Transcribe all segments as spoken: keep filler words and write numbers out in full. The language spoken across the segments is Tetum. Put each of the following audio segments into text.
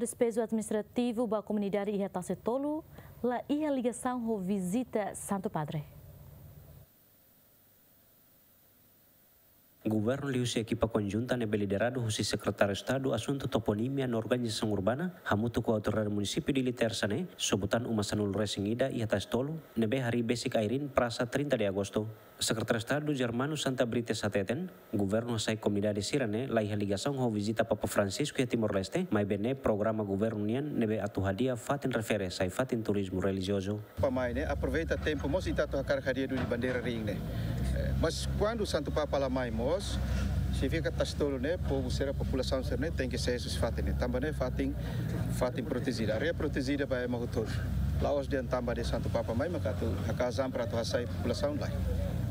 Despeju administrativu ba komunidade iha Tasi Tolu la iha ligasaun ho vizita Santu Padre. Governu liuhusi ekipa konjunta ne'ebé lideradu husi Sekretáriu Estadu Asuntu Toponímia no Organizasaun Urbana, hamutuk ho Autoridade Munisípiu Dili Tersa ne'e, sobu tan uma sanulu-resin-ida iha Tasi Tolu, ne'ebé harii besik ai-riin Prasa trinta de Agosto. Sekretáriu Estadu Germano Santa Brites hateten, governu hasai komunidade sira-ne'e la iha ligasaun ho vizita Papa Francisco iha Timor-Leste, maibé ne'e programa governu nian ne'ebé atu hadi'a fatin refere sai fatin turizmu relijiozu. Papa mai ne'e, aproveita tempu mós ita atu hakarak hadi'a duni bandeira riin ne'e. Eh, mas kuandu Santu Papa la mai mós, signifika Tasi Tolu ne'e, povu sira, populasaun sira-ne'e tenke sai husi fatin ne'e. Tanba ne'e fatin, fatin protejida. Área protejida ba ema hotu. La'ós dehan tanba dehan Santu Papa mai maka atu hakaas an para atu hasai populasaun, lae.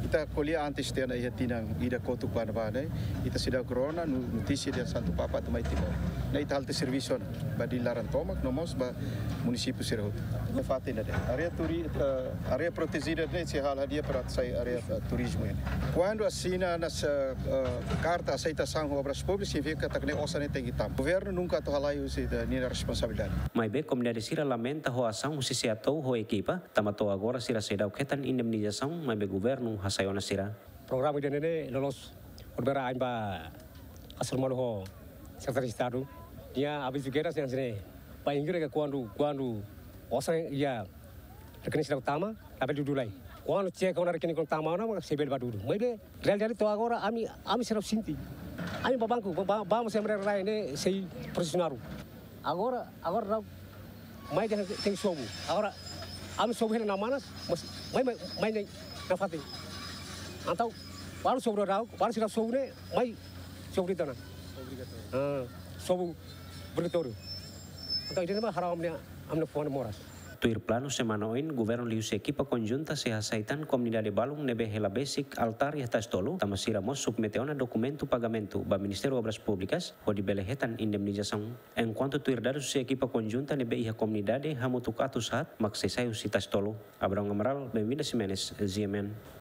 Ita ko'alia antes tiha ona iha tinan ida kotuk ba ne'ebá ne'e, ita seidauk rona no-, notísia dehan Santu Papa atu mai Timor. Ne'e ita halo tiha servisu ona ba Dili laran tomak, no mós ba munisípiu sira hotu. Ne'e fatin ida de'it. Área turi-, eh, área protejida ne'e sei halo hadi'a para sai área, eh, turizmu ne'e. Kuandu asina ona, eh, karta aseitasaun ho Obras Públikas, signifika katak ne'e osan ne'e tenke tama. Governu nunka atu halai husi, eh, ninia responsabilidade. Maibé komunidade sira lamenta ho asaun husi SEATOU ho ekipa, tanba to'o agora sira seidauk hetan indemnizasaun, maibé governu hasai ona sira. Programa ida-ne'e ne'e loloos horibainrua ain ba hasoru malu ho Sekretáriu Estadu. Nia avizu kedas hanesan ne'e. Bainhira ke kuandu, kuandu osan iha rekening seidauk tama, labele dudu lai. Kuandu cek ona rekening kuandu tama ona, maka sei bele bá dudu. Maibé realidade to'o agora ami, ami seidauk sente. Ami bá banku, bá, bá, bá mós ema rai ne'e sei prosesu naruk. Agora, agora daudaun mai dehan tenke sobu. Agora ami sobu hela iha Manas, mas mai, mai, mai ne'e iha fatin. Entaun balu sobu daudaun, balu seidauk sobu ne'e, mai sobu ida tan. Ah, sobu obrigatóriu. Entaun ida-ne'e mak haraun ami-nia, ami-nia fuan moras. Tuir planu semana oin, governu liuhusi ekipa konjunta sei hasai tan komunidade balun ne'ebé hela besik altár iha Tasi Tolu, tanba sira mós submete ona dokumentu pagamentu ba Ministériu Obras Públikas, hodi bele hetan indemnizasaun. Enkuantu tuir dadus husi ekipa konjunta ne'ebé iha komunidade hamutuk atus haat mak sei sai husi Tasi Tolu. Abrão Amaral, Benvinda Ximenes, G M N.